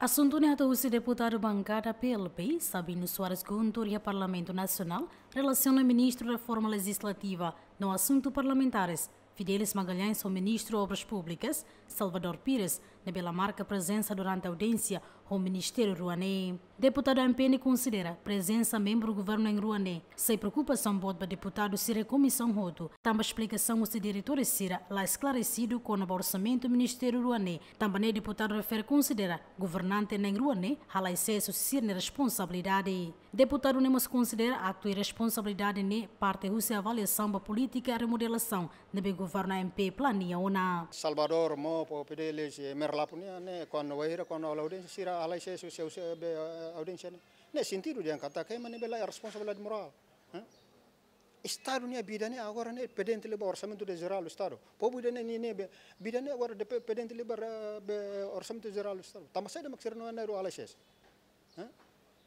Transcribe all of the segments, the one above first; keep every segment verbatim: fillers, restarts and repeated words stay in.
Asuntu ne'e hato'o husi deputadu bankada P L P, Sabino Soares Guntur, iha Parlamentu Nasionál, relasiona Ministru Reforma Lejizlativa no Asuntu Parlamentares, Fidelis Magalhães, ho Ministru Obras Públikas, Salvador Pires, ne'ebé la marka prezensa durante audiénsia ho ministériu rua ne'e. Deputadu M P ne'e konsidera prezensa membru governu na'in rua ne'e sai preokupasaun boot ba deputadu sira komisaun hotu, tanba esplikasaun husi diretór sira la esklaresidu kona-ba orsamentu ministériu rua ne'e, tanba ne'e deputadu refere konsidera governante na'in rua ne'e halai sees husi sira-nia responsabilidade. Deputadu ne'e mós konsidera aktu irresponsabilidade ne'e parte husi avaliasaun ba polítika remodelasaun ne'ebé governu M P plania ona. Salvador, Mopo, Fidelis, eh, Merlapu nian, ne'e, kuandu wainhira, kuandu halo audiénsia, sira halai sees husi, husi, be, eh, audiénsia ne'e. Ne'e sentidu dehan katak ema ne'ebé la iha responsabilidade morál. Hã? Estadu nia vida ne'e agora ne'e pendente liu ba Orsamentu Jerál do Estadu. Povu ida ne'e, ne'e, ne'e, be, vida ne'e agora depe-, pendente liu ba, eh, be, Orsamentu Jerál do Estadu. Tanba saida mak sira na'in rua halai sees? Hã?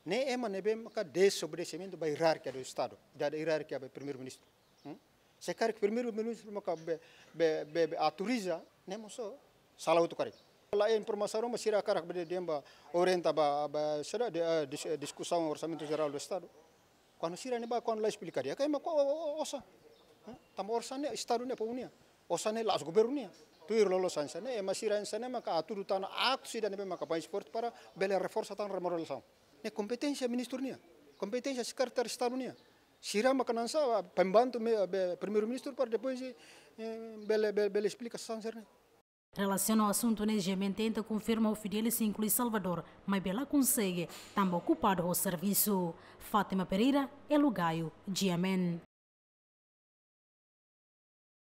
Ne'e ema ne'ebé maka desobedesimentu ba hierarkia do Estadu, da, da hierarkia ba Primeiru-Ministru. Hmm? Se karik Primeiru-Ministru maka be, be, be, be autoriza, ne'e mós sala hotu karik. La iha informasaun ruma sira hakarak be dehan ba orienta ba, ba sira de, eh, dis-, eh, diskusaun Orsamentu Jerál do Estadu. Kuandu sira ne'e ba, kuandu la esplika di'ak, katak ema ko, o, o, osan. Hã? Tanba osan ne'e Estadu ne'e povu nian. Osan ne'e la'ós governu nian. Tuir loloos hanesan ne'e, ema sira hanesan ne'e maka hatudu tan aktu sira ne'ebé maka bainhira para bele reforsa tan remodelasaun. Ne'e kompeténsia ministru nian. Kompeténsia sekretáriu Estadu nian. Sira maka hanesan pembantu me-, be, Primeiru-Ministru para depois, eh, bele, bele, bele esplika sasán sira-ne'e. Relasiona ho asuntu ne'e, GMN tenta konfirma ho Fidelis inklui Salvador, maibé la konsege, tanba okupadu ho servisu. Fátima Pereira, Elo Gaio, GMN.